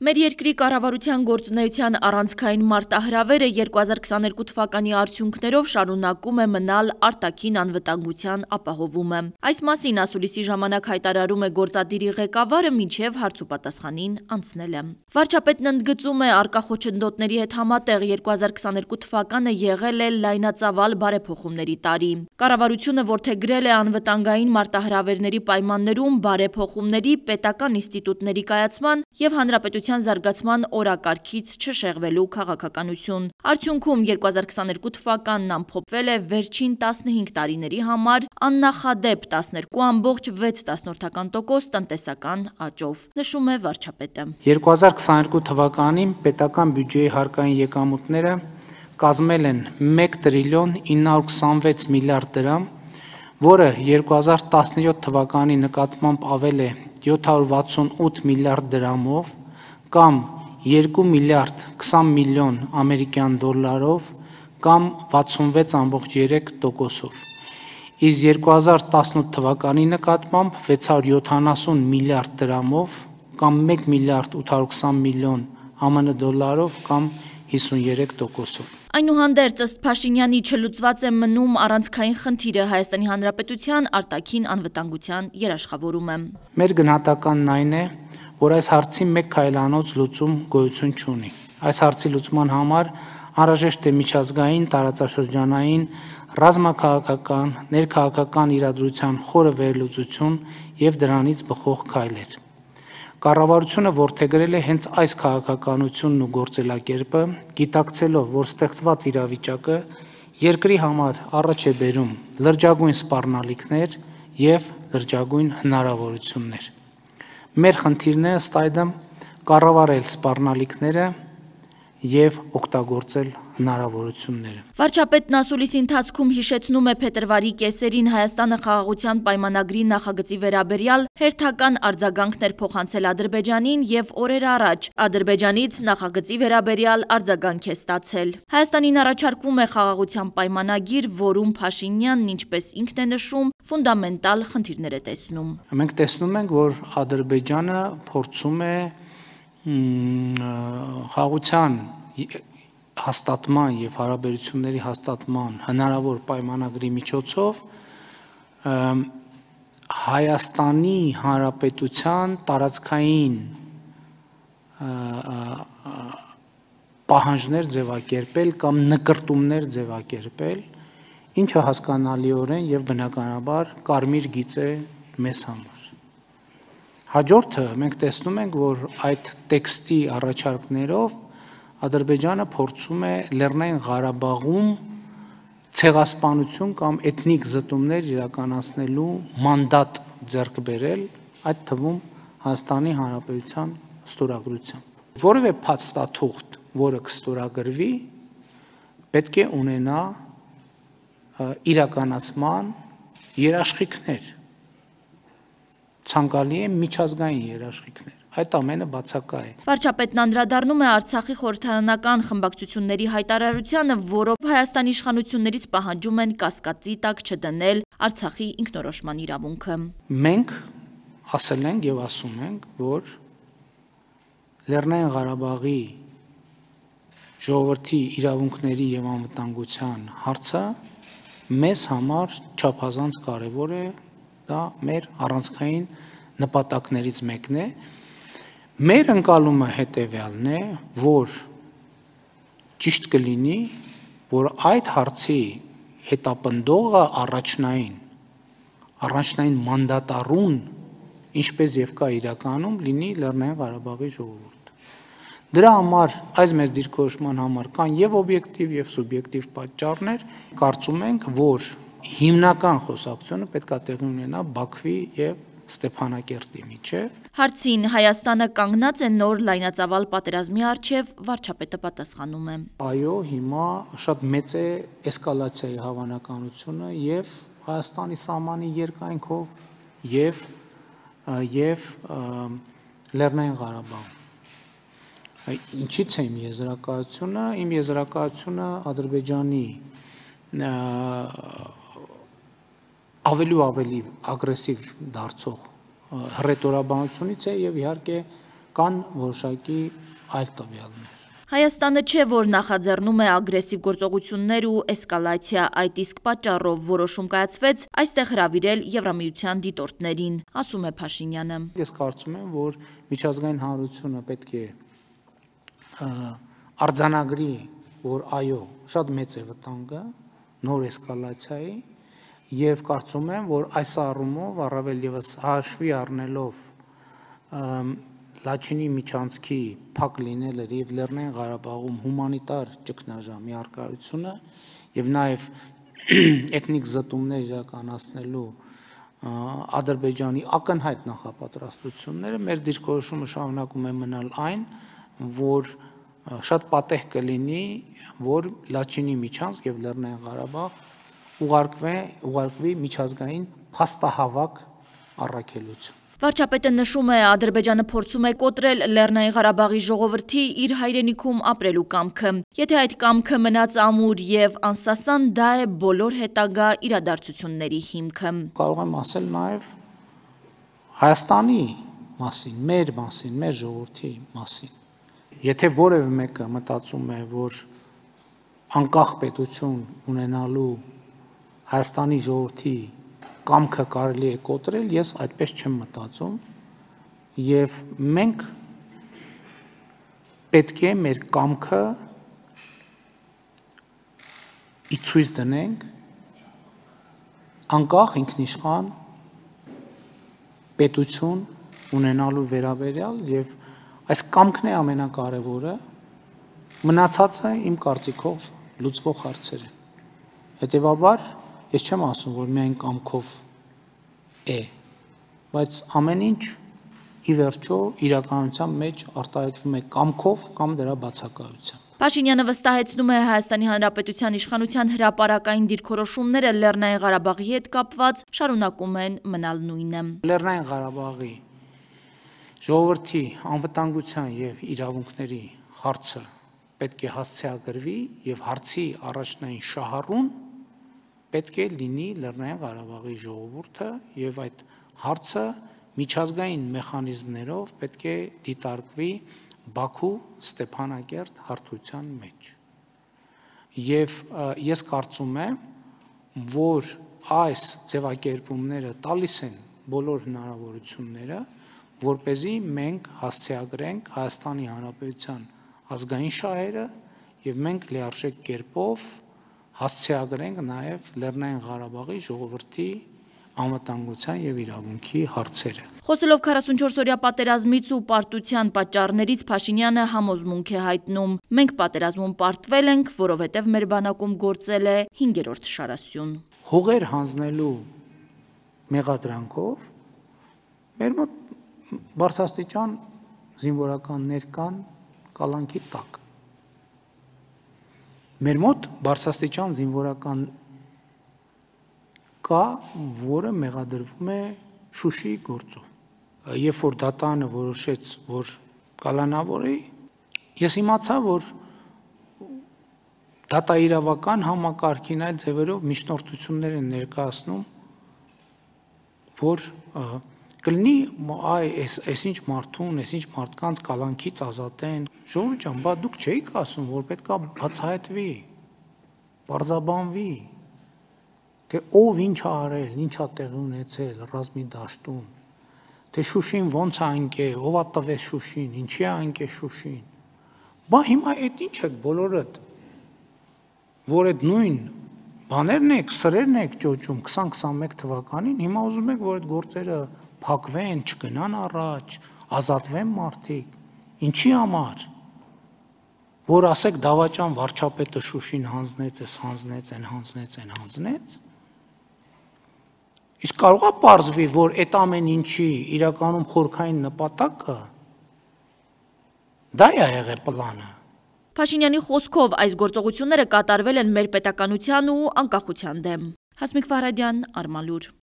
Մեր երկրի կառավարության գործունեության առանցքային մարտահրավերը 2022 թվականի արդյունքներով շարունակում է մնալ արտաքին անվտանգության ապահովումը։ Այս մասին ասուլիսի ժամանակ հայտարարում է գործադիրի ղեկավարը մինչև հարցուպատասխանին անցնել է։ Վարչապետն ընդգծում է առկա խոչընդոտների հետ համատեղ 2022 թվականը եղել է լայնածավալ բարեփոխումների տարի։ Կառավարությունը որդեգրել է անվտանգային մարտահրավերների պայմաններում բարեփոխումների պետական ինստիտուտների կայացման և հանրապետության զարգացման օրակարգից չշեղվելու քաղաքականություն։ Արդյունքում 2022 թվականն ամփոփվել է վերջին 15 տարիների համար աննախադեպ 12,6% տնտեսական աճով, նշում է վարչապետը։ 2022 թվականին պետական բյուջեի հարկային եկամուտները կազմել են 1 տրիլիոն 926 միլիարդ դրամ, որը 2017 թվականի նկատմամբ ավել է 768 միլիարդ դրամով, կամ 2 միլիարդ 20 միլիոն ամերիկյան դոլարով, կամ 66,3%-ով։ Իսկ 2018 թվականի նկատմամբ 670 միլիարդ դրամով, կամ 1 միլիարդ 820 միլիոն ԱՄՆ դոլարով, կամ 53%-ով։ Այնուհանդերձ, ըստ Փաշինյանի, չլուծված է մնում առանցքային խնդիրը Հայաստանի Հանրապետության արտաքին անվտանգության երաշխավորումը։ Մեր գնահատականն այն է, որ այս հարցի մեկ քայլանոց լուծում գոյություն չունի։ Այս հարցի լուծման համար անհրաժեշտ է միջազգային, տարածաշրջանային, ռազմաքաղաքական, ներքաղաքական իրադրության խորը վերլուծություն և դրանից բխող քայլեր։ Կառավարությունը որդեգրել է հենց այս քաղաքականությունն ու գործելակերպը, գիտակցելով, որ ստեղծված իրավիճակը երկրի համար առաջ է բերում լրջագույն սպառնալիքներ և լրջագույն հնարավորություններ։ Մեր խնդիրն է ըստ այդմ կառավարել սպառնալիքները և օգտագործել հնարավորությունները։ Վարչապետն ասուլիսի ընթացքում հիշեցնում է փետրվարի կեսերին Հայաստանը խաղաղության պայմանագրի նախագծի վերաբերյալ հերթական արձագանքներ փոխանցել Ադրբեջանին և օրեր առաջ Ադրբեջանից նախագծի վերաբերյալ արձագանք է ստացել։ Հայաստանին առաջարկվում է խաղաղության պայմանագիր, որում Փաշինյանն, ինչպես ինքն է նշում, ֆունդամենտալ խնդիրներ է տեսնում։ Մենք տեսնում ենք, որ Ադրբեջանը փորձում է խաղաղության հաստատման և հարաբերությունների հաստատման հնարավոր պայմանագրի միջոցով Հայաստանի Հանրապետության տարածքային պահանջներ ձևակերպել կամ նկրտումներ ձևակերպել, ինչը հասկանալիորեն և բնականաբար կարմիր գիծ է մեզ համար։ Հաջորդը մենք տեսնում ենք, որ այդ տեքստի առաջարկներով Ադրբեջանը փորձում է Լեռնային Ղարաբաղում ցեղասպանություն կամ էթնիկ զտումներ իրականացնելու մանդատ ձեռք բերել, այդ թվում Հայաստանի Հանրապետության ստորագրությամբ։ Որևէ փաստաթուղթ, որը կստորագրվի, պետք է ունենա իրականացման երաշխիքներ, ցանկալի է միջազգային երաշխիքներ, այդ ամենը բացակա է։ Վարչապետն անդրադառնում է Արցախի խորհրդարանական խմբակցությունների հայտարարությանը, որով Հայաստանի իշխանություններից պահանջում են կասկածի տակ չդնել Արցախի ինքնորոշման իրավունքը։ Մենք ասել ենք և ասում ենք, որ Լեռնային Ղարաբաղի ժողովրդի իրավունքների և անվտանգության հարցը մեզ համար չափազանց կարևոր է, դա մեր առանցքային նպատակներից մեկն է։ Մեր ընկալումը հետևյալն է, որ ճիշտ կլինի, որ այդ հարցի հետապնդողը առաջնային մանդատառուն, ինչպես և կա իրականում, լինի Լեռնային Ղարաբաղի ժողովուրդը։ Դրա համար, այս մեր դիրքորոշման համար կան և օբյեկտիվ և սուբյեկտիվ պատճառներ, կարծում ենք, որ հիմնական խոսակցությունը պետք է տեղի ունենա Բաքվի և Ստեփանակերտի միջև։ Հարցին Հայաստանը կանգնած է նոր լայնածավալ պատերազմի առջև, վարչապետը պատասխանում է։ Այո, հիմա շատ մեծ է էսկալացիայի հավանականությունը և Հայաստանի սահմանի երկայնքով և Լեռնային Ղարաբաղում։ Ինչից է իմ եզրակացությունը։ Իմ եզրակացությունը Ադրբեջանի ավելի ու ավելի ագրեսիվ դարձող հռետորաբանությունից է և իհարկե կան որոշակի այլ տվյալներ։ Հայաստանը չէ, որ նախաձեռնում է ագրեսիվ գործողություններ ու էսկալացիա, այդ իսկ պատճառով որոշում կայացվեց այստեղ հրավիրել Եվրամիության դիտորդներին, ասում է Փաշինյանը։ Ես կարծում եմ, որ միջազգային հանրությունը պետք է արձանագրի, որ այո, շատ մեծ է վտանգը նոր էսկալացիայի, եւ կարծում եմ, որ այս առումով առավել եւս հաշվի առնելով Լաչինի միջանցքի փակ լինելը եւ Լեռնային Ղարաբաղում հումանիտար ճգնաժամի առկայությունը եւ նաեւ էթնիկ զտումներ իրականացնելու Ադրբեջանի ակնհայտ նախապատրաստությունները մեր դիրքորոշումը շարունակում է մնալ այն, որ շատ պատեհ կլինի, որ Լաչինի միջանցք եւ Լեռնային Ղարաբաղ ուղարկվի միջազգային փաստահավաք առաքելություն։ Վարչապետը նշում է, Ադրբեջանը փորձում է կոտրել Լեռնային Ղարաբաղի ժողովրդի իր հայրենիքում ապրելու կամքը։ Եթե այդ կամքը մնաց ամուր եւ անսասան, դա է բոլոր հետագա իրադարձությունների հիմքը։ Կարող եմ ասել նաեւ Հայաստանի մասին, մեր ժողովրդի մասին։ Եթե որևէ մեկը մտածում է, որ անկախ պետություն ունենալու Հայաստանի ժողովրդի կամքը կարելի է կոտրել, ես այդպես չեմ մտածում եւ մենք պետք է մեր կամքը ցույց դնենք անկախ ինքնիշխան պետություն ունենալու վերաբերյալ եւ այս կամքն է ամենակարևորը, մնացածը իմ կարծիքով լուծվող հարցեր են։ Հետևաբար ես չեմ ասում, որ միայն կամքով է, բայց ամեն ինչ ի վերջո իրականության մեջ արտահայտվում է կամքով կամ դրա բացակայությամբ։ Փաշինյանը վստահեցնում է Հայաստանի Հանրապետության իշխանության հրապարակային դիրքորոշումները Լեռնային Ղարաբաղի հետ կապված շարունակում են մնալ նույնը։ Լեռնային Ղարաբաղի ժողովրդի անվտանգության եւ իրավունքների հարցը պետք է հասցեագրվի եւ հարցի առաջնային շահառուն պետք է լինի Լեռնային Ղարաբաղի ժողովուրդը եւ այդ հարցը միջազգային մեխանիզմներով պետք է դիտարկվի Բաքու Ստեփանակերտ հարթության մեջ։ Եվ ես կարծում եմ, որ այս ձևակերպումները տալիս են բոլոր հնարավորությունները, որպեսզի մենք հասցեագրենք Հայաստանի Հանրապետության ազգային շահերը եւ մենք լիարժեք կերպով հասցեագրենք նաեւ Լեռնային Ղարաբաղի ժողովրդի անվտանգության եւ իրավունքի հարցերը։ Խոսելով 44-օրյա պատերազմից ու պարտության պատճառներից Փաշինյանը համոզմունք է հայտնում. մենք պատերազմում պարտվել ենք, որովհետև մեր բանակում գործել է 5-րդ շարասյուն։ Հողեր հանձնելու մեղադրանքով մեր մոտ բարձրաստիճան զինվորականներ կան կալանքի տակ։ Մեր մոտ բարձրաստիճան զինվորական կա, որը մեղադրվում է Շուշիի գործով։ Երբ որ դատարանը որոշեց, որ կալանավորի, ես իմացա, որ դատաիրավական համակարգին այլ ձևերով միջնորդություններ են ներկայացնում, որ կլինի այս ինչ մարդուն, այս ինչ մարդկանց կալանքից ազատեն։ Ժողովուրդ ջան, բա դուք չէիք ասում, որ պետքա բացահայտվի, պարզաբանվի, թե ով ինչ ա արել, ինչ ա տեղի ունեցել ռազմի դաշտում, թե Շուշին ոնց է ընկել, ով ա տվեց Շուշին, ինչի է ընկել Շուշին։ Բա հիմա այդ ինչ եք բոլորդ, որ այդ նույն բաներն եք, սրերն եք ճոճում 2021 թվականին, հիմա ուզում եք, որ այդ գործերը փակվեն, չգնան առաջ, ազատվեն մարդիկ, ինչի համար, որ ասեք դավաճան վարչապետը Շուշին հանձնեց, իսկ կարող է պարզվի, որ այդ ամեն ինչի իրականում խորքային նպատակը դա է եղել պլանը։ Փաշինյանի խոսքով այս գործողությունները կատարվել են մեր պետականության ու անկախության դեմ։ Հասմիկ Վահրադյան, Արմալուր։